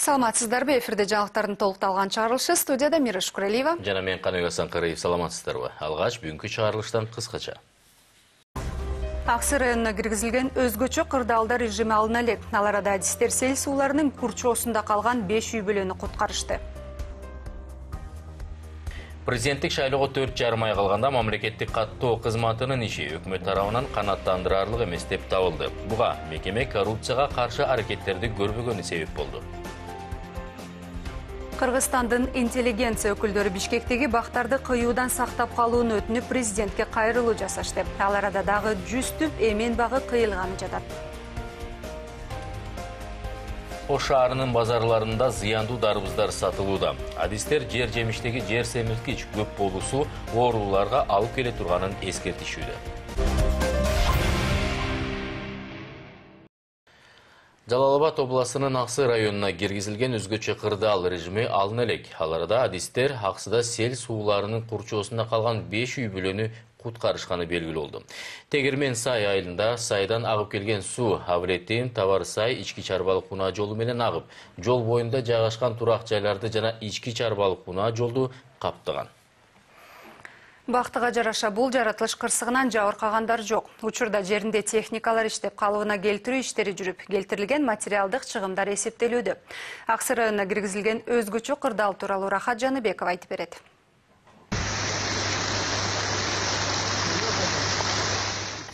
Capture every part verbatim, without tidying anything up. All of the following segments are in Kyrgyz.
Саламатсыздарбы, эфирде жаңылыктардын толукталган чыгарылышы, студияда Мира Шукуралиева жана мен Каныбек Асанкариев. Саламатсыздарбы. Алгач бүгүнкү чыгарылыштан кыскача. Аксы районуна киргизилген өзгөчө кырдаалдар режими алына элек. Ал арада адистер сел сууларынын курчоосунда калган беш үй бүлөнү куткарышты. Президенттик шайлоого төрт жарым ай калганда мамлекеттик каттоо кызматынын иши өкмөт тарабынан канааттандырарлык эмес деп табылды. Буга мекеме коррупцияга каршы аракеттерди көрбөгөнү себеп болду. Кыргызстандын интеллигенция өкүлдөрү Бишкектеги бактарды кыюудан сактап калууну өтүнүп президентке кайрылуу жасашты. Ал арада дагы жүз түп эмен багы кыйылганы жатат. Ош шаарынын базарларында зыяндуу дарбыздар сатылууда. Адистер жер жемиштеги жер семирткич көп болуусу ооруларга алып келе турганын эскертишүүдө. Жалал Абад областынын Аксы районуна киргизилген өзгөчө кырдаал режими алына элек. Ал арада адистер Аксыда сел сууларынын курчоосунда калган беш үй бүлөнү куткарышканы белгилүү болду. Тегермен Сай айылында сайдан агып келген суу Авлетин Табар Сай ички чарбалык унаа жолу менен агып, жол боюнда жайгашкан турак жайларды жана ички чарбалык унаа жолду каптаган. Бактыга жараша бул жаратылыш кырсыгынан жабыркагандар жок. Учурда жеринде техникалар иштеп, калыбына келтирүү иштери жүрүп, келтирилген материалдык чыгымдар эсептелүүдө. Аксы районуна киргизилген өзгөчө кырдаал тууралуу Рахат Жаныбеков айтып берет.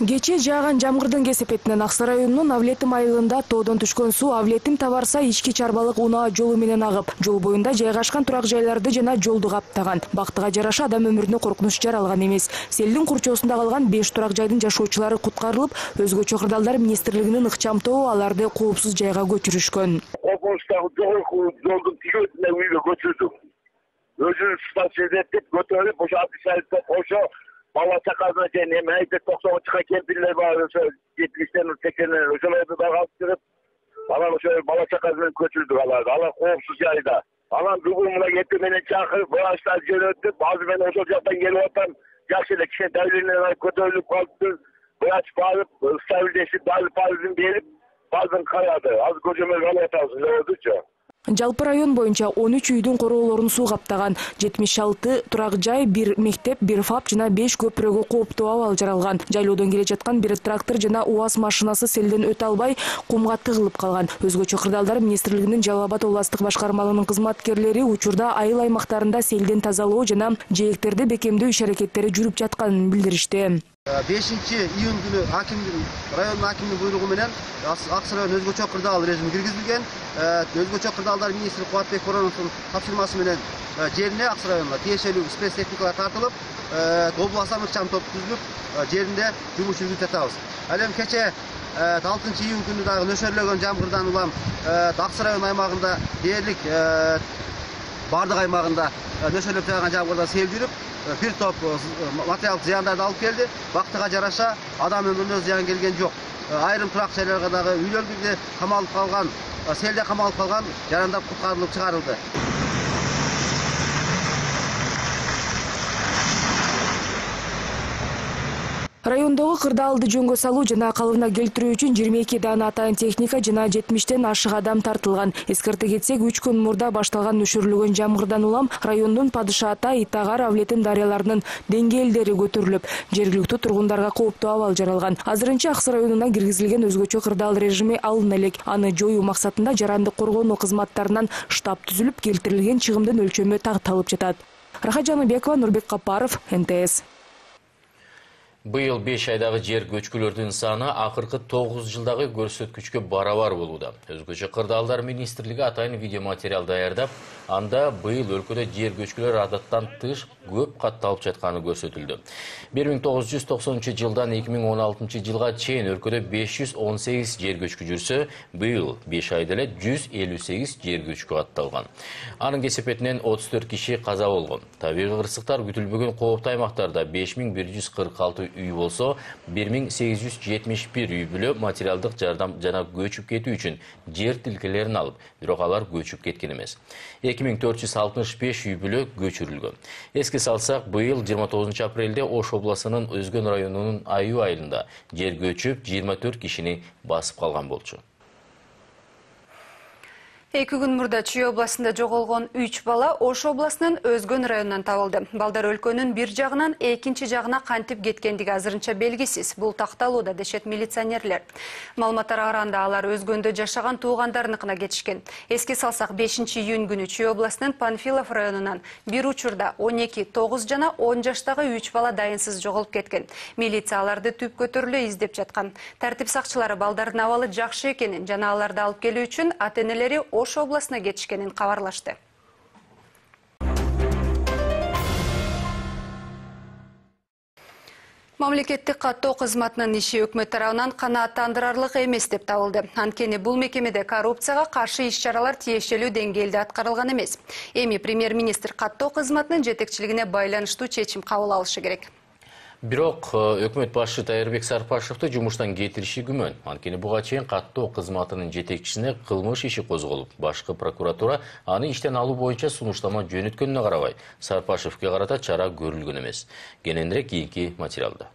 Кечээ жааган жамгырдын кесепетинен Аксы районунун Авлетим айылында тоодон түшкөн суу Авлетим Табар Сай ички чарбалык унаа жолу менен агып, жол боюнда жайгашкан турак жайларды жана жолду каптаган. Бактыга жараша адам өмүрүнө коркунуч жаралган эмес. Селдин курчоосунда калган беш турак жайдын жашоочулары куткарылып, өзгөчө кырдаалдар министрлигинин ыкчам тобу аларды коопсуз жайга көчүрүшкөн. Коркунучтагы жолдун тигезине үйгө көчүрдүк. Өзүнүн станцияда деп көтөрүп, ошо Абдисайытка кошо бала чакасына чейин эми айтып токсонунчуга кемпирлер бар, ошо жетимиштен сексенден ошолорду дагы алып кирип, анан ошо бала чакасынан көчүрдүк аларды. Алар коопсуз жайда. Анан бүгүн мына эртең менен чакырып, врачтар жөнөттүп, азыр мен ошол жактан келип атам. Жакшы эле кичине давлениялар көтөрүлүп калыптыр. Врач барып, стабилдешип, базын берип, базын карады. Азыр көчөмө алып атабыз, өзүчө. Жалпы район боюнча он үч үйдүн короолорун суу каптаган. жетимиш алты турак жай, бир мектеп, бир фап жана беш көпүрөгө кооптуу абал жаралган. Жайлоодон келе жаткан бир трактор жана УАЗ машинасы селден өтө албай кумга тыгылып калган. Өзгөчө кырдаалдар министрлигинин Жалал Абад областтык башкармалыгынын кызматкерлери учурда айыл аймактарында селден тазалоо жана жээктерди бекемдөө иш-аракеттери жүрүп жатканын билдиришти. бешинчи июнь күнү акимдин райондун акимдин буйругу менен Аксы район өзгөчө кырдаал режими киргизилген. Өзгөчө кырдаалдар министри Кубатбек Короновдун тапшырмасы менен жерине Аксы районуна тиешелүү спец техникалар тартылып, областан ыкчам топ түзүлүп, жеринде жумуш жүргүзүп жатабыз. Ал эми кечээ алтынчы июнь күнү дагы нөшөрлөгөн жамгырдан улам Аксы район аймагында дээрлик бардык аймагында нөшөрлөп жааган жамгырдан сел жүрүп, бир топ материалдык зыяндарды алып келди. Бактыга жараша адам өмүрүнө зыян келген жок. Айрым турак жайларга дагы үйлөрдө камалып калган, селде камалып калган жарандар куткарылып чыгарылды. Райондогу кырдаалды жөнгө салуу жана калыбына келтирүү үчүн жыйырма эки даана атайын техника жана жетимиштен ашык адам тартылган. Эскерте кетсек, үч күн мурда башталган нөшөрлөгөн жамгырдан улам райондун Падыша Ата, Итагар, Авлетим дарыяларынын деңгээлдери көтөрүлүп, жергиликтүү тургундарга кооптуу абал жаралган. Азырынча Аксы районуна киргизилген өзгөчө кырдаал режими алына элек. Аны жоюу максатында жарандык коргонуу кызматтарынан штаб түзүлүп, келтирилген чыгымдын өлчөмү такталып жатат. Рахат Жаныбекова, Нурбек Капаров, Н Т С. Быйыл беш айдагы жер көчкүлөрдүн саны акыркы тогуз жылдагы көрсөткүчкө барабар болууда. Өзгөчө кырдаалдар министрлиги атайын видеоматериал даярдап, анда быйыл өлкөдө жер көчкүлөр адаттан тыш көп катталып жатканы көрсөтүлдү. бир миң тогуз жүз токсонунчу жылдан эки миң он алтынчы жылга чейин өлкөдө беш жүз он сегиз жер көчкү жүрсө, быйыл беш айда эле жүз элүү сегиз жер көчкү катталган. Анын кесепетинен отуз төрт киши каза болгон. Табигый кырсыктар күтүлбөгөн кооптуу аймактарда беш миң бир жүз кырк алты үй болсо, бир миң сегиз жүз жетимиш бир үй бүлө материалдык жардам жана көчүп кетүү үчүн жер тилкелерин алып, бирок алар көчүп кеткен эмес. эки миң төрт жүз алтымыш беш үй бүлө көчүрүлгөн. Эске салсак, быйыл жыйырма тогузунчу апрелде Ош областынын Өзгөн районунун Аюу айылында жер көчүп жыйырма төрт кишини басып калган болчу. Эки күн мурда Чүй областында жоголгон үч бала Ош областынын Өзгөн районунан табылды. Балдар өлкөнүн бир жагынан экинчи жагына кантип кеткендиги азырынча белгисиз. Бул такталууда, дешет милиционерлер. Маалыматтарга караганда алар Өзгөндө жашаган туугандарыныкына кетишкен. Эске салсак, бешинчи июнь күнү Чүй областынын Панфилов районунан бир учурда он эки, тогуз жана он жаштагы үч бала дайынсыз жоголуп кеткен. Милиция аларды түп көтөрүлө издеп жаткан. Тартип сакчылары балдардын абалы жакшы экенин жана аларды алып келүү үчүн ата-энелери Ош областына кетишкенин кабарлашты. Мамлекеттик каттоо кызматынын иши өкмөт тарабынан канааттандырарлык эмес деп табылды. Анткени бул мекемеде коррупцияга каршы иш-чаралар тиешелүү деңгээлде аткарылган эмес. Эми премьер-министр каттоо кызматынын жетекчилигине байланыштуу чечим кабыл алышы керек. Бирок өкмөт башчы Тайырбек Сарпашевди жумуштан кетириши күмөн. Анткени буга чейин каттоо кызматынын жетекчисине кылмыш иши козголуп, башкы прокуратура аны иштен алуу боюнча сунуштама жөнөткөнүнө карабай, Сарпашевге карата чара көрүлгөн эмес. Кененирээк кийинки материалда.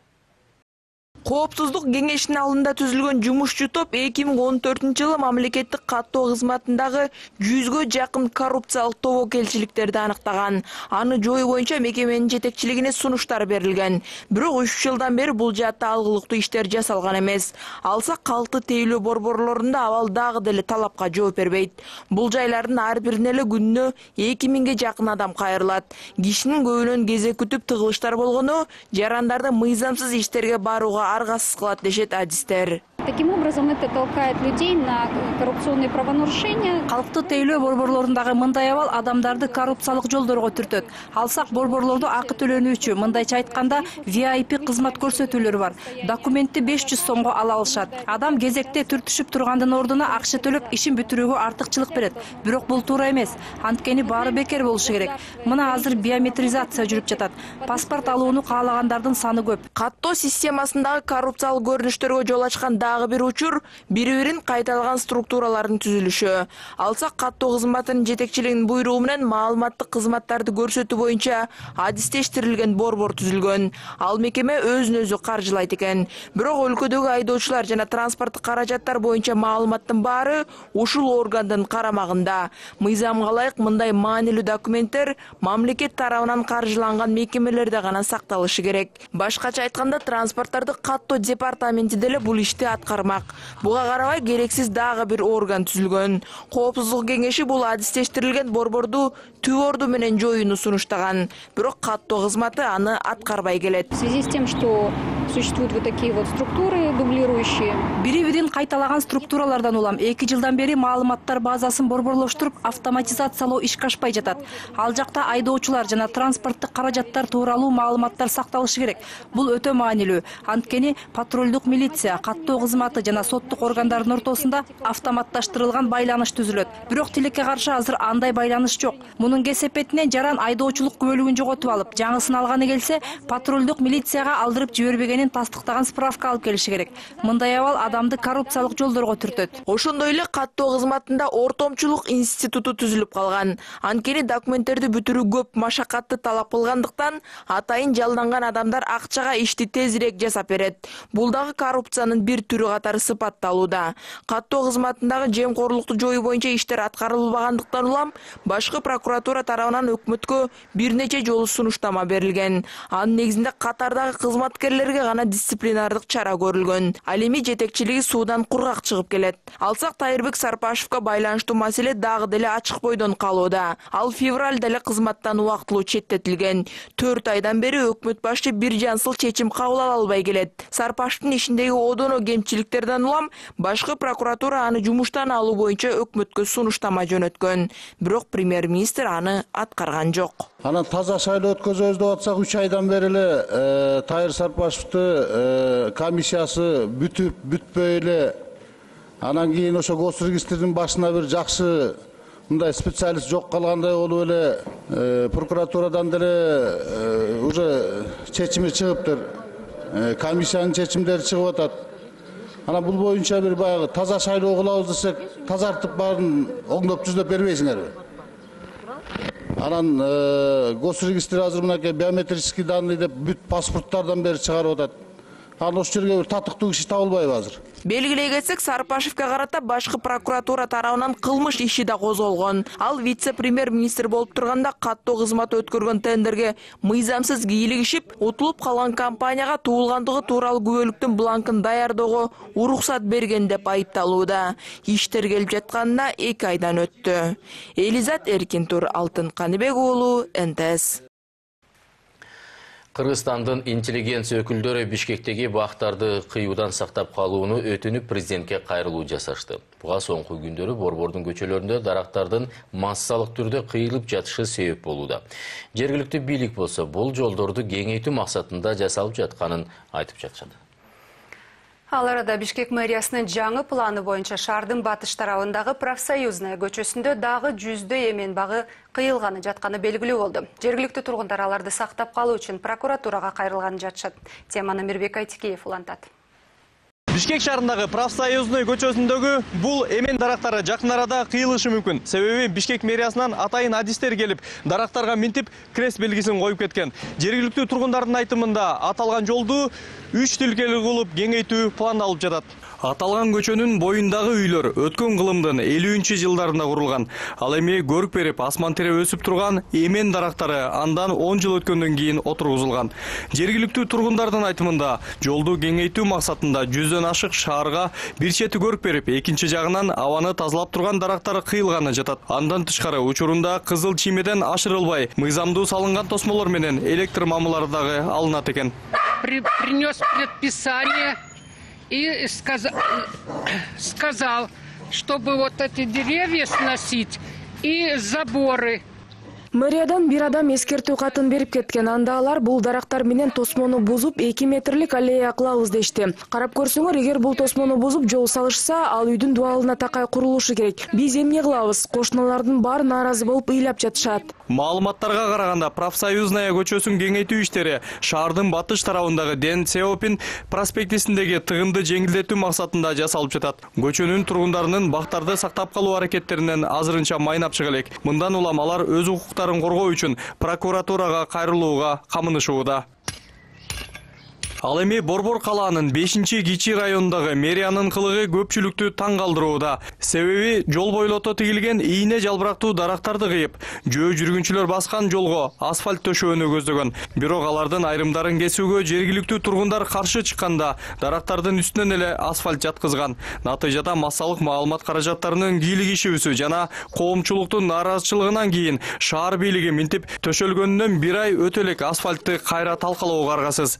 Коопсуздук кеңешинин алдында түзүлгөн жумушчу топ эки миң он төртүнчү жылы мамлекеттик каттоо кызматындагы жүзгө жакын коррупциялык тобокелчиликтерди аныктаган. Аны жоюу боюнча мекеменин жетекчилигине сунуштар берилген. Бирок үч жылдан бери бул жаатта алгылыктуу иштер жасалган эмес. Алсак калкты тейлөө борборлорунда абал дагы деле талапка жооп бербейт. Бул жайлардын ар бирине эле күнүнө эки миңге жакын адам кайрылат. Кишинин көбүнөн кезек күтүп тыгылыштар болгону жарандарды мыйзамсыз иштерге барууга аргасыз кылат, дешет адистер. Таким образом, это толкает людей на коррупционные правонарушения. Калкты тейлөө борборлорундагы мындай абал адамдарды коррупциялык жолдорго түртөт. Алсак борборлордо акы төлөнүүчү, мындайча айтканда ви ай пи кызмат көрсөтүүлөр бар. Документти беш жүз сомго ала алышат. Адам кезекте түртүшүп тургандын ордуна акча төлөп ишин бүтүрүүгө артыкчылык берет. Бирок бул туура эмес. Анткени баары бекер болушу керек. Мына азыр биометризация жүрүп жатат. Паспорт алууну каалагандардын саны көп. Каттоо системасындагы коррупциялык көрүнүштөргө жол ачкан дагы бир учур бири-бирин кайталган структуралардын түзүлүшү. Алсак каттоо кызматынын жетекчилигинин буйругу менен маалыматтык кызматтарды көрсөтүү боюнча адистештирилген борбор түзүлгөн. Ал мекеме өзүн өзү каржылайт экен. Бирок өлкөдөгү айдоочулар жана транспорттук каражаттар боюнча маалыматтын баары ушул органдын карамагында. Мыйзамга ылайык мындай маанилүү документтер мамлекет тарабынан каржыланган мекемелерде гана сакталышы керек. Башкача айтканда, транспорттарды каттоо департаменти деле бул ишти аткармак. Буга карабай керексиз дагы бир орган түзүлгөн. Коопсуздук кеңеши бул адистештирилген борборду түп орду менен жоюуну сунуштаган. Бирок каттоо кызматы аны аткарбай келет. В связи с тем, что существуют вот такие вот структуры дублирующие. Бири-бирин кайталаган структуралардан улам эки жылдан бери маалыматтар базасын борборлоштуруп автоматизациялоо ишке ашпай жатат. Ал жакта айдоочулар жана транспорттук каражаттар тууралуу маалыматтар сакталышы керек. Бул өтө маанилүү. Анткени патрулдук милиция, каттоо кызматы жана соттук органдардын ортосунда автоматташтырылган байланыш түзүлөт. Бирок тилекке каршы азыр андай байланыш жок. Мунун кесепетинен жаран айдоочулук күбөлүгүн жоготуп алып, жаңысын алганы келсе, патрулдук милицияга алдырып жибербегенин тастыктаган справка алып келиши керек. Мындай абал адамды коррупциялык жолдорго түртөт. Ошондой эле каттоо кызматында ортомчулук институту түзүлүп калган. Анткени документтерди бүтүрүү көп машакатты талап кылгандыктан атайын жалданган адамдар акчага ишти тезирээк жасап берет. Бул дагы коррупциянын бир түрү катары сыпатталууда. Каттоо кызматындагы жемкорлукту жоюу боюнча иштер аткарылбагандыктан улам башкы прокуратура тарабынан өкмөткө бир нече жолу сунуштама берилген. Анын негизинде катардагы кызматкерлерге гана дисциплинардык чара көрүлгөн. Ал эми жетекчилиги суудан кургак чыгып келет. Алсак, Тайырбек Сарпашевге байланыштуу маселе дагы деле ачык бойдон калууда. Ал февралда эле кызматтан убактылуу четтетилген. төрт айдан бери өкмөт башчы бир жансыл чечим кабыл ала албай келет. Сарпашевдин ишиндеги одоно кемчиликтерден улам башкы прокуратура аны жумуштан алуу боюнча өкмөткө сунуштама жөнөткөн. Бирок премьер-министр аны аткарган жок. Анан таза шайлоо өткөзөбүз деп атсак, үч айдан бери эле Тайыр Сарпашевди комиссиясы бүтүп бүтпөй эле, анан кийин ошо госрегистрдин башына бир жакшы мындай специалист жок калгандай болуп эле прокуратурадан деле уже чечими чыгыптыр. Комиссиянын чечимдери чыгып атат. Анан бул боюнча бир баягы таза шайлоо кылабыз десек, тазартып баарын оңдоп түзөп бербейсиңерби? Анан госрегистр азыр мынакей биометрический данные деп бүт паспорттардан бери чыгарып атат. Анан ошол жерге бир татыктуу киши табылбайбы азыр? Белгилей кетсек, Сарпашевке карата башкы прокуратура тарабынан кылмыш иши да козголгон. Ал вице-премьер-министр болуп турганда каттоо кызмат өткөргөн тендерге мыйзамсыз кийлигишип, утулуп калган компанияга туулгандыгы тууралуу күбөлүктүн бланкын даярдоого уруксат берген деп айыпталууда. Иштер келип жатканына эки айдан өттү. Элизат Эркинтур, Алтын Каныбек уулу, эн тэ эс. Кыргызстандын интеллигенция өкүлдөрү Бишкектеги бактарды кыюудан сактап калууну өтүнүп президентке кайрылуу жасашты. Буга соңку күндөрү Борбордун көчөлөрүндө дарактардын массалык түрдө кыйылып жатышы себеп болууда. Жергиликтүү бийлик болсо бул жолдорду кеңейтүү максатында жасалып жатканын айтып жатышат. Ал арада Бишкек мэриясынын жаңы планы боюнча шаардын батыш тарабындагы Профсоюзная көчөсүндө дагы жүздөй эмен багы кыйылганы жатканы белгилүү болду. Жергиликтүү тургундар аларды сактап калуу үчүн прокуратурага кайрылганын жатышат. Теманы Мирбек Айтикеев улантат. Бишкек шаарындагы Профсоюзный көчөсүндөгү бул эмен дарактары жакын арада кыйылышы мүмкүн. Себеби Бишкек мэриясынан атайын адистер келип, дарактарга минтип крест белгисин коюп кеткен. Жергиликтүү тургундардын айтымында аталган жолду үч тилкелүү кылып кеңейтүү пландалып жатат. Аталган көчөнүн боюндагы үйлөр өткөн кылымдын элүүнчү жылдарында курулган. Ал эми көрүк берип, асман тере өсүп турган эмен дарактары андан он жыл өткөндөн кийин отургузулган. Жергиликтүү тургундардын айтымында жолду кеңейтүү максатында жүздөн ашык шаарга бир чети көрүк берип, экинчи жагынан абаны тазалап турган дарактар кыйылганы жатат. Андан тышкары учурунда кызыл чиймеден ашырылбай, мыйзамдуу салынган тосмолор менен электр мамылары дагы алынат экен. Принес предписание и сказал, сказал, чтобы вот эти деревья сносить и заборы. Мэриядан бир адам эскертүү катын берип кеткен. Анда алар бул дарактар менен тосмону бузуп эки метрлик аллея кылабыз дешти. Карап көрсөңөр, эгер бул тосмону бузуп жол салышса, ал үйдүн дубалына такай курулушу керек. Биз эмне кылабыз? Кошуналардын баары нааразы болуп ыйлап жатышат. Маалыматтарга караганда, Профсоюзная көчөсүн кеңейтүү иштери шаардын батыш тарабындагы Дэн Сяопин проспектисиндеги тыгынды жеңилдетүү максатында жасалып жатат. Көчөнүн тургундарынын бактарды сактап калуу аракеттеринен азырынча майнап чыга элек. Мындан улам алар өз укуктарын коргоо үчүн прокуратурага кайрылууга камынышууда. Ал эми Борбор калаанын бешинчи кичи районундагы мэриянын кылыгы көпчүлүктү таң калтырууда. Себеби жол бойлото тигилген ийне жалбырактуу дарактарды кыйып, жөө жүргүнчүлөр баскан жолго асфальт төшөөнү көздөгөн. Бирок алардын айрымдарын кесүүгө жергиликтүү тургундар каршы чыкканда, дарактардын үстүнөн эле асфальт жаткызган. Натыйжада массалык маалымат каражаттарынын кийлигишүүсү жана коомчулуктун нааразычылыгынан кийин шаар бийлиги минтип төшөлгөнүнөн бир ай өтө элек асфальтты кайра талкалоого аргасыз.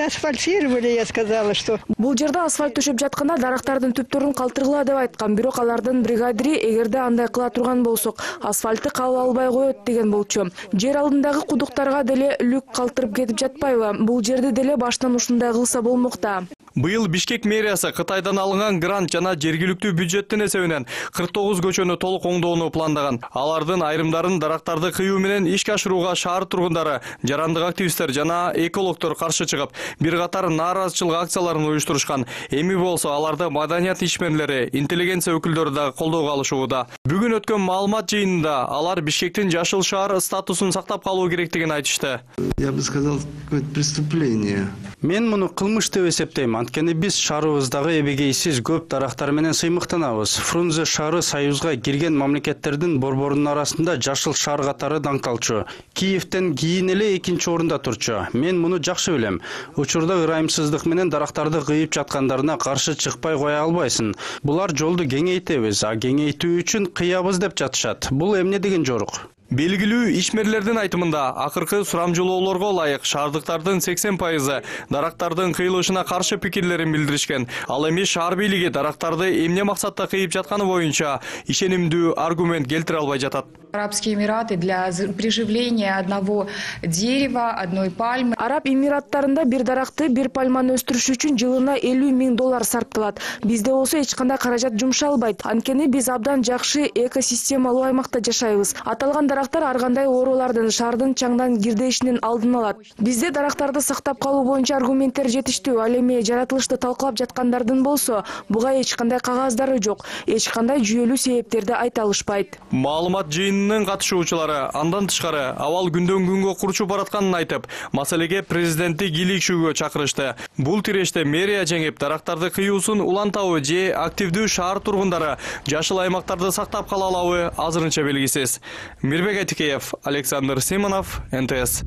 Асфальтировали, я сказала, что... Бул жерде асфальт төшөп жатканда дарактардын түптөрүн калтыргыла деп айткан. Бирок алардын бригадири эгерде андай кыла турган болсок, асфальтты кабыл албай коет деген болчу. Жер алдындагы кудуктарга деле люк калтырып кетип жатпайбы? Бул жерди деле баштан ушундай кылса болмок да. Быйыл Бишкек мэриясы Кытайдан алынган грант жана жергиликтүү бюджеттин эсебинен кырк тогуз көчөнү толук оңдоону пландаган. Алардын айрымдарын дарактарды кыюу менен ишке ашырууга шаар тургундары, жарандык активисттер жана экологдор каршы чыгып, бир катар нааразычылык акцияларын уюштурушкан. Эми болсо аларды маданият ишмерлери, интеллигенция өкүлдөрү да колдоого алышууда. Бүгүн өткөн маалымат жыйынында алар Бишкектин жашыл шаар статусун сактап калуу керектигин айтышты. Я бы сказал, какое-то преступление. Мен муну кылмыш деп эсептейм. Анткени биз шаарыбыздагы эбегейсиз көп дарактар менен сыймыктанабыз. Фрунзе шаары Союзга кирген мамлекеттердин борборунун арасында жашыл шаар катары даңкталчу. Киевден кийин эле экинчи орунда турчу. Мен муну жакшы билем. Учурда ырайымсыздык менен дарактарды кыйып жаткандарына каршы чыкпай кое албайсың. Булар жолду кеңейтебиз, а кеңейтүү үчүн кыябыз деп жатышат. Бул эмне деген жорук? Белгилүү ишмерлердин айтымында, акыркы сурамжылоолорго ылайык шаардыктардын сексен пайызы дарактардын кыйылышына каршы пикирлерин билдиришкен. Ал эми шаар бийлиги дарактарды эмне максатта кыйып жатканы боюнча ишенимдүү аргумент келтире албай жатат. Арабские Эмираты для приживления одного дерева, одной пальмы. Араб Эмираттарында бир даракты, бир пальманы өстүрүш үчүн жылына элүү миң доллар сарпталат. Бизде болсо эч кандай каражат жумшалбайт. Анткени биз абдан жакшы экосистемалуу аймакта жашайбыз. Аталган дарактар ар кандай оорулардын, шаардын чаңдан кирдешинин алдын алат. Бизде дарактарды сактап калуу боюнча аргументтер жетиштүү. Ал эми жаратылышты талкалап жаткандардын болсо, буга эч кандай кагаздары жок, эч кандай жүйөлүү себептерди айта алышпайт. Маалымат жыйын жыйынынын катышуучулары андан тышкары абал күндөн күнгө курчуп баратканын айтып, маселеге президентти кийлигишүүгө чакырышты. Бул тиреште мэрия жеңип, дарактарды кыюусун улантабы же активдүү шаар тургундары жашыл аймактарды сактап кала алабы азырынча белгисиз. Мирбек Атикеев, Александр Симонов, эн тэ эс.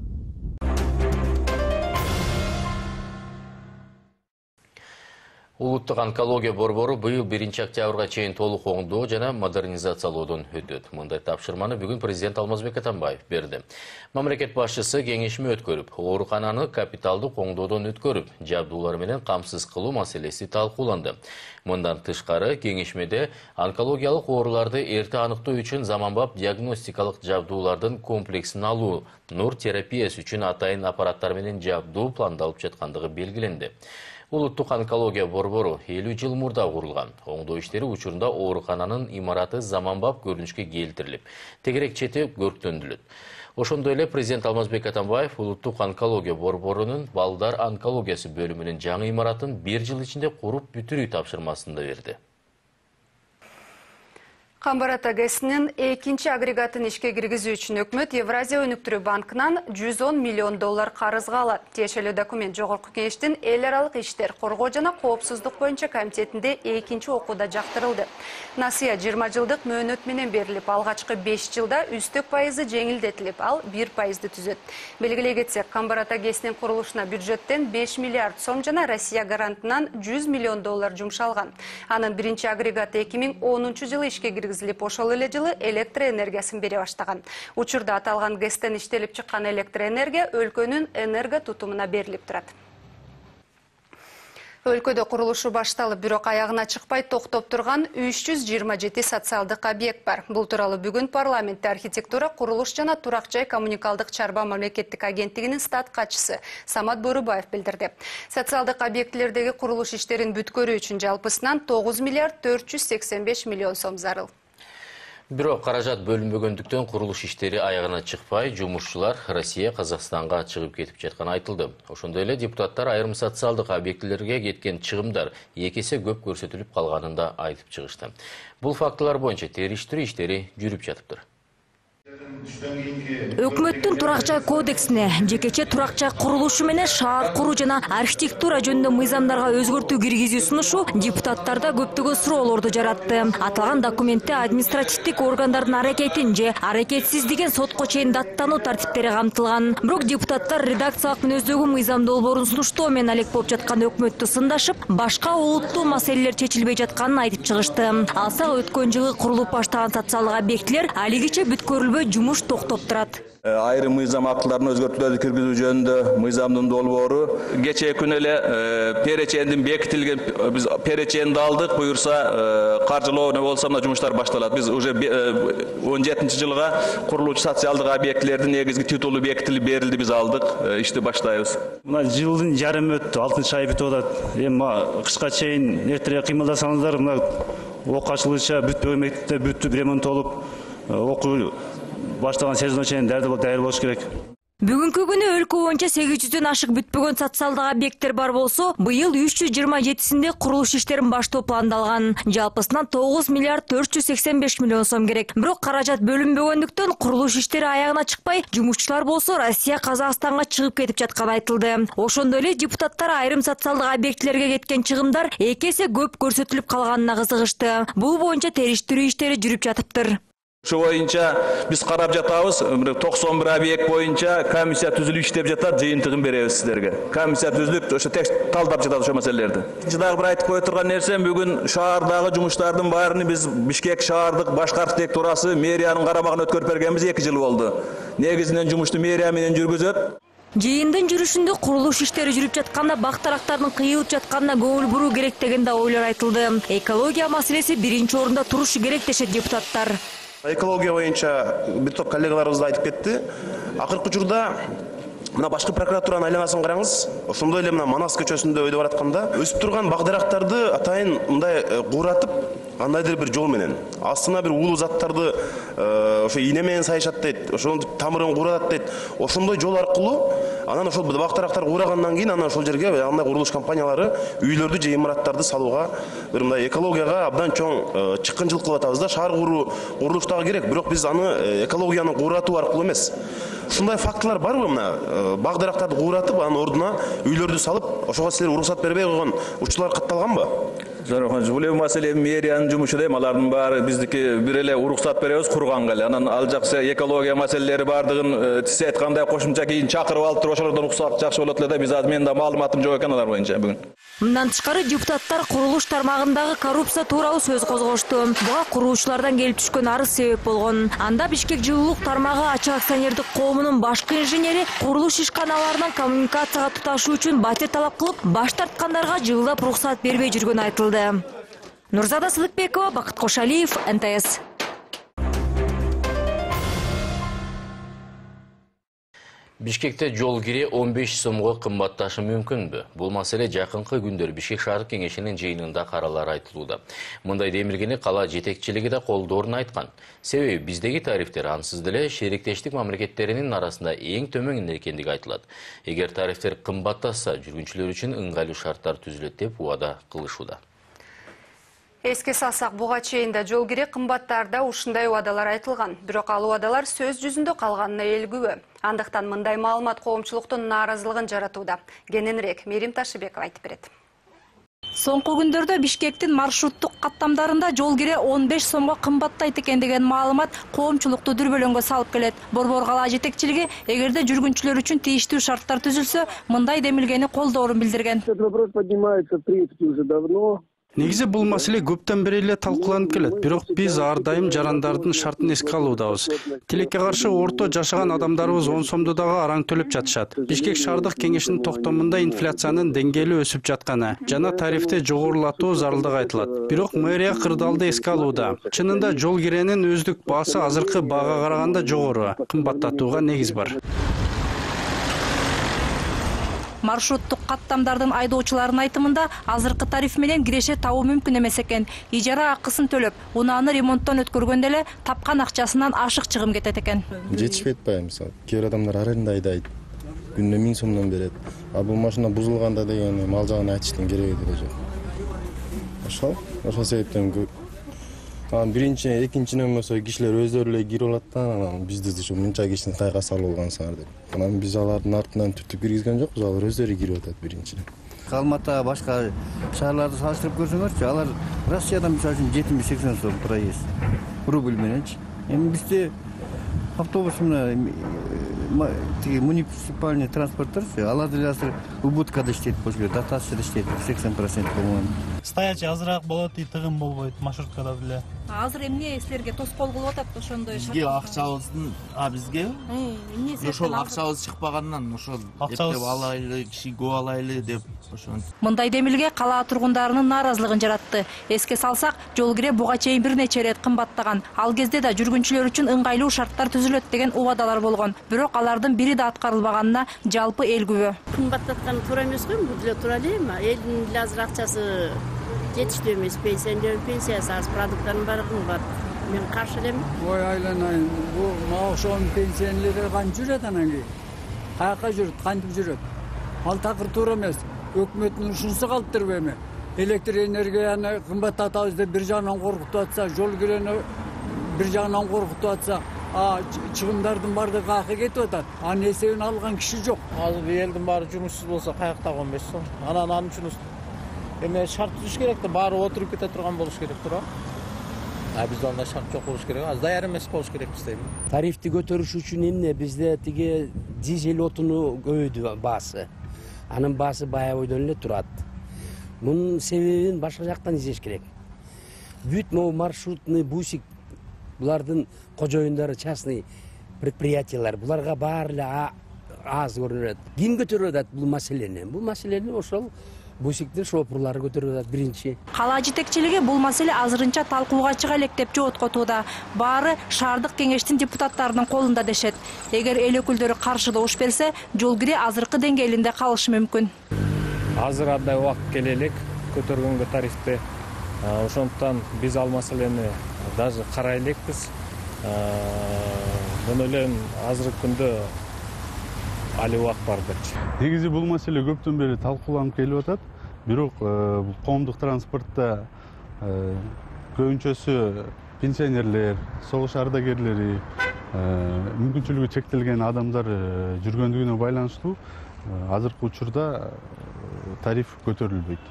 Улуттук онкология борбору быйыл биринчи октябрга чейин толук оңдоо жана модернизациялоодон өтөт. Мындай тапшырманы бүгүн президент Алмазбек Атамбаев берди. Мамлекет башчысы кеңешме өткөрүп, оорукананы капиталдык оңдоодон өткөрүп, жабдуулар менен камсыз кылуу маселеси талкууланды. Мындан тышкары кеңешмеде онкологиялык ооруларды эрте аныктоо үчүн заманбап диагностикалык жабдуулардын комплексин алуу, нур терапиясы үчүн атайын аппараттар менен жабдуу пландалып жаткандыгы белгиленди. Улуттук онкология борбору элүү жыл мурда курулган. Оңдоо иштери учурунда оорукананын имараты заманбап көрүнүшкө келтирилип, тегерек чети көрктөндүлөт. Ошондой эле президент Алмазбек Атамбаев улуттук онкология борборунун балдар онкологиясы бөлүмүнүн жаңы имаратын бир жыл ичинде куруп бүтүрүү тапшырмасын да берди. Камбарата ГЭСинин экинчи агрегатын ишке киргизүү үчүн өкмөт Евразия өнүктүрүү банкынан жүз он миллион доллар карызга алат. Тиешелүү документ Жогорку Кеңештин эл аралык иштер, коргоо жана коопсуздук боюнча комитетинде экинчи окууда жактырылды. Насыя жыйырма жылдык мөөнөт менен берилип, алгачкы беш жылда үстөк пайызы жеңилдетилип, ал бир пайызды түзөт. Белгилей кетсек, Камбарата ГЭСинин курулушуна бюджеттен беш миллиард сом жана Россия гарантынан жүз миллион доллар жумшалган. Анын биринчи агрегаты эки миң онунчу жылы ишке киргизилди. Ошол эле жылы электр энергиясын бере баштаган. Учурда аталган ГЭСтен иштелип чыккан электр энергия өлкөнүн энерго тутумуна берилип турат. Өлкөдө курулушу башталып, бирок аягына чыкпай токтоп турган үч жүз жыйырма жети социалдык объект бар. Бул тууралуу бүгүн парламентте архитектура, курулуш жана турак жай коммуникалдык чарба мамлекеттик агенттигинин стат катчысы Самат Борубаев билдирди. Социалдык объектилердеги курулуш иштерин бүткөрүү үчүн жалпысынан тогуз миллиард төрт жүз сексен беш миллион сом зарыл. Бирок каражат бөлүнбөгөндүктөн курулуш иштери аягына чыкпай, жумушчулар Россия Казакстанга чыгып кетип жатканы айтылды. Ошондой эле депутаттар айрым социалдык объектилерге кеткен чыгымдар эки эсе көп көрсөтүлүп калганын да айтып чыгышты. Бул фактылар боюнча териштирүү иштери жүрүп жатыптыр. Өкмөттүн турак жай кодексине жекече турак жай курулушу менен шаар куруу жана архитектура жөнүндө мыйзамдарга өзгөртүү киргизүү сунушу депутаттарда көптөгөн суроолорду жаратты. Аталган документте административдик органдардын аракетин же аракетсиздигин сотко чейин даттануу тартиптери камтылган. Бирок депутаттар редакциялык мүнөздөгү мыйзам долбоорун сунуштоо менен алек болуп жаткан өкмөттү сындашып, башка олуттуу маселелер чечилбей жатканын айтып чыгышты. Алсак өткөн жылы курулуп баштаган социалдык объектилер алигиче бүткөрүлбөй жумуш токтоп турат. Айрым мыйзам актыларына өзгөртүүлөрдү киргизүү жөнүндө мыйзамдын долбоору кечээ күнү эле перечендин бекитилген, биз переченди алдык, буюрса каржылоо не болсо мына жумуштар башталат. Биз уже он жетинчи жылга курулуучу социалдык объектилердин негизги титулу бекитилип берилди, биз алдык, ишти баштайбыз. Мына жылдын жарым өттү, алтынчы ай бүтүп атат. Эми кышка чейин эртерээк кыймылдасаңыздар, мына окуу ачылышча бүтпөгөн мектепте бүтүп ремонттолуп, окуу баштаган сезонго чейин дайыр болуш керек. Бүгүнкү күнү өлкө боюнча сегиз жүздөн ашык бүтпөгөн социалдык объекттер бар болсо, быйыл үч жүз жыйырма жетисинде курулуш иштерин баштоо пландалган. Жалпысынан тогуз миллиард төрт жүз сексен беш миллион сом керек. Бирок каражат бөлүнбөгөндүктөн курулуш иштери аягына чыкпай, жумушчулар болсо Россия Казакстанга чыгып кетип жатканы айтылды. Ошондой эле депутаттар айрым социалдык объектилерге кеткен чыгымдар эки эсе көп көрсөтүлүп калганына кызыгышты. Бул боюнча териштирүү иштери жүрүп жатыптыр. Ошо боюнча биз карап жатабыз, токсон бир объект боюнча комиссия түзүлүп иштеп жатат, жыйынтыгын беребиз сиздерге. Комиссия түзүлүп, ошо текст талдап жатат ошо маселелерди. Дагы бир айтып кое турган нерсем, бүгүн шаардагы жумуштардын баарын биз Бишкек шаардык башкы архитектурасы мэриянын карамагына өткөрүп бергенбиз, эки жыл болду. Негизинен жумушту мэрия менен жүргүзөт. Жыйындын жүрүшүндө курулуш иштери жүрүп жатканда бактарактардын кыйылып жатканына көңүл буруу керек деген да ойлор айтылды. Экология маселеси биринчи орунда турушу керек дешет депутаттар. Экология боюнча бир топ коллегаларыбыз да айтып кетти. Акыркы учурда мына башкы прокуратуранын айланасын караңыз. Ошондой эле мына Манас көчөсүндө өйдө баратканда өсүп турган бак дарактарды атайын мындай кууратып, кандайдыр бир жол менен астына бир уулуу заттарды ошо ийне менен сайышат дейт, ошонун тамырын кууратат дейт. Ошондой жол аркылуу Анан ошол бак дарактар куурагандан кийин анан ошол жерге андай курулуш компаниялары үйлөрдү же имараттарды салууга бир мындай экологияга абдан чоң чыккынчылык кылып атабыз да. Шаар куруу курулуш дагы керек, бирок биз аны экологияны кууратуу аркылуу эмес. Ушундай фактылар барбы? Мына бак дарактарды кууратып, анын ордуна үйлөрдү салып, ошого силер уруксат бербей койгон учурлар катталганбы? Жок, бул эми маселе мэриянын жумушу да, алардын баары биздики бир эле уруксат беребиз курганга эле. Анан ал жакшы экология маселелери бардыгын сиз айткандай кошумча кийин чакырып алып туруп ошолордон уруксат жакшы болот эле да. Биз азыр менин да маалыматым жок экен алар боюнча бүгүн. Мындан тышкары депутаттар курулуш тармагындагы коррупция тууралуу сөз козгошту. Буга куруучулардан келип түшкөн арыз себеп болгон. Анда Бишкек жылуулук тармагы ачык акционердик коомунун башкы инженери курулуш ишканаларынан коммуникацияга туташуу үчүн батир талап кылып, баш тарткандарга жылдап уруксат бербей жүргөнү айтылды. Нурзада Сыдыкбекова, Бакыт Кошалиев, эн тэ эс. Бишкекте жол кире он беш сомго кымбатташы мүмкүнбү? Бул маселе жакынкы күндөр Бишкек шаардык кеңешинин жыйынында каралары айтылууда. Мындай демилгени кала жетекчилиги да колдоорун айткан. Себеби биздеги тарифтер ансыз деле шериктештик мамлекеттеринин арасында эң төмөн экендиги айтылат. Эгер тарифтер кымбаттаса, жүргүнчүлөр үчүн ыңгайлуу шарттар түзүлөт деп убада кылышууда. Эске салсак, буга чейин да жол кире кымбаттарда ушундай убадалар айтылган. Бирок ал убадалар сөз жүзүндө калганына эл күбө. Андыктан мындай маалымат коомчулуктун нааразылыгын жаратууда. Кененирээк Мерим Ташыбекова айтып берет. Соңку күндөрдө Бишкектин маршруттук каттамдарында жол кире он беш сомго кымбаттайт экен деген маалымат коомчулукту дүрбөлөңгө салып келет. Борбор кала жетекчилиги эгерде жүргүнчүлөр үчүн тийиштүү шарттар түзүлсө, мындай демилгени колдоорун билдирген. Негизи бул маселе көптөн бери эле талкууланып келет, бирок биз ар дайым жарандардын шартын эске алуудабыз. Тилекке каршы орто жашаган адамдарыбыз он сомду дагы араң төлөп жатышат. Бишкек шаардык кеңешинин токтомунда инфляциянын деңгээли өсүп жатканы жана тарифти жогорулатуу зарылдыгы айтылат. Бирок мэрия кырдаалды эске алууда. Чынында жол киренин өздүк баасы азыркы баага караганда жогору, кымбаттатууга негиз бар. Маршруттук каттамдардын айдоочуларынын айтымында азыркы тариф менен киреше табуу мүмкүн эмес экен. Ижара акысын төлөп, унааны ремонттон өткөргөндө эле тапкан акчасынан ашык чыгым кетет экен. Жетишпейт баягы, мисалы, кээ бир адамдар аренда айдайт, күнүнө миң сомдон берет. А бул машина бузулганда деген мал жагын айтыштын кереги деле жок. Ошол, ошол себептен анан биринчи, экинчиден болсо кишилер өздөрү эле кирип алат да, анан бизди ушу мынча кишини кайга салып алгансыңар деп. Анан биз алардын артынан түртүп киргизген жокпуз, алар өздөрү кирип атат биринчиден. Алматыга башка шаарларды салыштырып көрсөңөрчү, алар Россиядан мисалы үчүн жетимиш сексен сом проезд. Рубль мененчи. Эми бизде автобус мына тиги муниципальный транспорттор, алар деле азыр убыткада иштейт болчу керек, дотацияда иштейт сексен процент по-моему. Стоячий азыраак болот, и тыгын болбойт маршруткада деле. Азыр эмне силерге тоскоол кылып атат ошондой? Бизге акчабыздын, а бизге ошол акчабыз чыкпагандан ошол эптеп алайлы, киши көп алайлы деп ошентип. Мындай демилге кала тургундарынын нааразылыгын жаратты. Эске салсак, жол кире буга чейин бир нече ирет кымбаттаган. Ал кезде да жүргүнчүлөр үчүн ыңгайлуу шарттар түзүлөт деген убадалар болгон. Бирок алардын бири да аткарылбаганына жалпы эл күбө. Кымбаттаткан туура эмес го, бул деле туура эле, элдин деле азыр акчасы жетиштүү эмес, пенсионер пенсиясы аз, продукттардын баары кымбат. Мен каршы элем. Ой, айланайын, бул ошонун пенсионерлери кантип жүрөт анан кийин? Каяка жүрөт, кантип жүрөт? Ал такыр туура эмес. Өкмөттүн ушунусу калыптырбы эми? Электр энергияны кымбаттатабыз деп бир жагынан коркутуп атса, жол кирени бир жагынан коркутуп атса, а чыгымдардын баардыгы каяка кетип атат. Анын эсебин алган киши жок. Азыр элдин баары жумушсуз болсо каяктагы он беш сом. Анан анын үчүн эме шарт түзүш керек да, баары отуруп кете турган болуш керек, туура. А бизде андай шарт жок болуш керек, аз даяр эмес болуш керек бизде. Тарифти көтөрүш үчүн эмне бизде тиги дизель отуну көбөйдү баасы. Анын баасы бая бойдон эле турат. Мунун себебин башка жактан издеш керек. Бүт могу маршрутный бусик булардын кожоюндары частный предприятиялар, буларга баары эле аз көрүнөт. Ким көтөрүп атат бул маселени? Бул маселени ошол бусиктин шопурлары көтөрүп атат биринчи. Кала жетекчилиги бул маселе азырынча талкууга чыга элек деп жооткотууда. Баары шаардык кеңештин депутаттарынын колунда дешет. Эгер эл өкүлдөрү каршы добуш берсе, жол кире азыркы деңгээлинде калышы мүмкүн. Азыр андай убакыт келе элек көтөргөнгө тарифти. Ошондуктан биз ал маселени даже карай элекпиз. Муну эле азыркы күндө али убакыт бардырчы. Негизи бул маселе көптөн бери талкууланып келип атат. Бирок бул коомдук транспортто көбүнчөсү пенсионерлер, согуш ардагерлери, мүмкүнчүлүгү чектелген адамдар жүргөндүгүнө байланыштуу азыркы учурда тариф көтөрүлбөйт.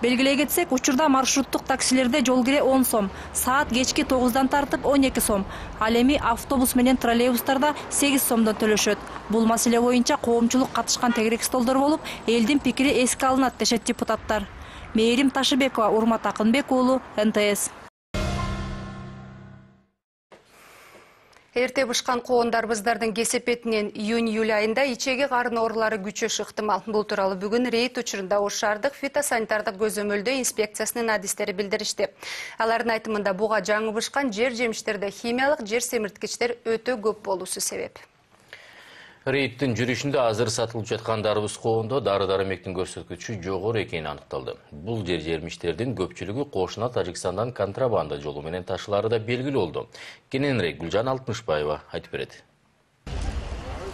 Белгилей кетсек, учурда маршруттук таксилерде жол кире он сом, саат кечки тогуздан тартып он эки сом. Ал эми автобус менен троллейбустарда сегиз сомдон төлөшөт. Бул маселе боюнча коомчулук катышкан тегерек столдор болуп, элдин пикири эске алынат дешет депутаттар. Мээрим Ташыбекова, Урмат Акынбек уулу, эн тэ эс. Эрте бышкан коондарбыздардын кесепетинен июнь-июль айында ичеги карын оорулары күчөшү ыктымал. Бул тууралуу бүгүн рейд учурунда Ош шаардык фитосанитардык көзөмөлдөө инспекциясынын адистери билдиришти. Алардын айтымында буга жаңы бышкан жер жемиштерде химиялык жер семирткичтер өтө көп болуусу себеп. Рейдтин жүрүшүндө азыр сатылып жаткан дарбыз коондо дары-дармектин көрсөткүчү жогору экени аныкталды. Бул жер жермиштердин көпчүлүгү кошуна Тажикстандан контрабанда жолу менен ташылары да белгилүү болду. Кененирээк Гүлжан Алтымышбаева айтып берет.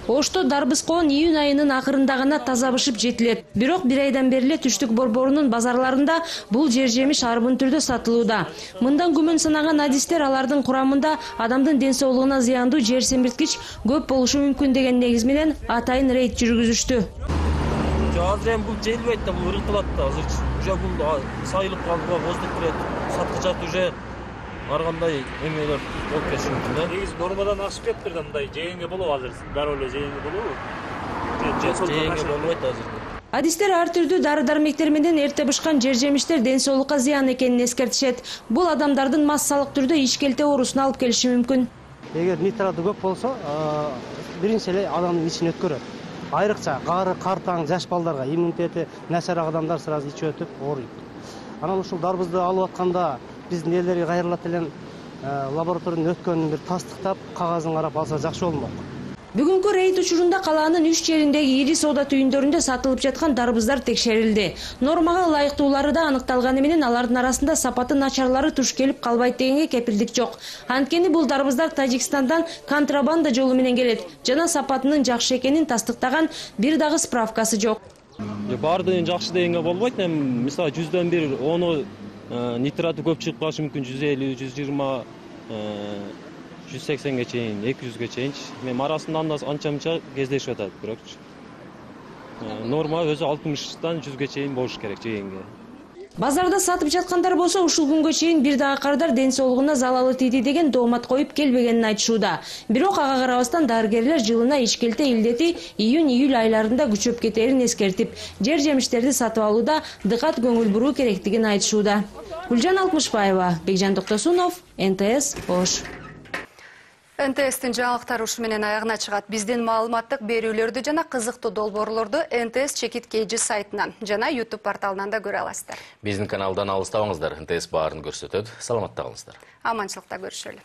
Ошто дарбыз коон июнь айынын акырында гана таза бышып жетилет. Бирок бир айдан бери Түштүк борборунун базарларында бул жер жемиш арбын түрдө сатылууда. Мындан күмөн санаган адистер алардын курамында адамдын ден соолугуна зыяндуу жер семирткич көп болушу мүмкүн деген негиз менен атайын рейд жүргүзүштү. Азыр эми бул желбейт да, бул ыркылат да. Азыр уже бул сайылып калды, боздук кирет. Саткычат уже ар кандай эмелер болуп кетиши мүмкүн. Негизи нормадан ашып кетти да, мындай жээнге болобу азыр? Дароо эле жээнге болобу? Жээнге болбойт азыр. Адистер ар түрдүү дары-дармектер менен эрте бышкан жер жемиштер ден соолукка зыян экенин эскертишет. Бул адамдардын массалык түрдө ишкелте оорусуна алып келиши мүмкүн. Эгер нитраты көп болсо, биринчи эле адамдын ичин өткөрөт. Айрыкча кары, картаң, жаш балдарга, иммунитети начар адамдар сразу ичип өтүп ооруйт. Анан ушул дарбызды алып атканда биздин элдерге кайрылат эле лабораториядан өткөнүн бир тастыктап, кагазын карап алса жакшы болмок. Бүгүнкү рейд учурунда калаанын үч жериндеги ири соода түйүндөрүндө сатылып жаткан дарбыздар текшерилди. Нормага ылайыктуулары да аныкталганы менен алардын арасында сапаты начарлары туш келип калбайт дегенге кепилдик жок. Анткени бул дарбыздар Тажикстандан контрабанда жолу менен келет жана сапатынын жакшы экенин тастыктаган бир дагы справкасы жок. Баардыгын жакшы дегенге болбойт. Эми мисалы жүздөн бир ону нитраты көп чыгып калышы мүмкүн, жүз элүү, жүз жыйырма, жүз сексенге чейин, эки жүзгө чейин. Мен арасында анча-мынча кездешип атат, бирок норма өзү алтымыштан жүзгө чейин болуш керек жээнге. Базарда сатып жаткандар болсо ушул күнгө чейин бир дагы кардар ден соолугуна залалы тийди деген доомат коюп келбегенин айтышууда. Бирок ага карабастан дарыгерлер жылына ишкелте илдети июнь-июль айларында күчөп кетерин эскертип, жер жемиштерди сатып алууда дыкат көңүл буруу керектигин айтышууда. Гүлжан Алтымышбаева, Бекжан Токтосунов, эн тэ эс Ош. эн тэ эстин жаңылыктары ушу менен аягына чыгат. Биздин маалыматтык берүүлөрдү жана кызыктуу долбоорлорду эн тэ эс чекит кейжи сайтынан жана YouTube порталынан да көрө аласыздар. Биздин каналдан алыстабаңыздар, эн тэ эс баарын көрсөтөт. Саламатта калыңыздар. Аманчылыкта көрүшөлү.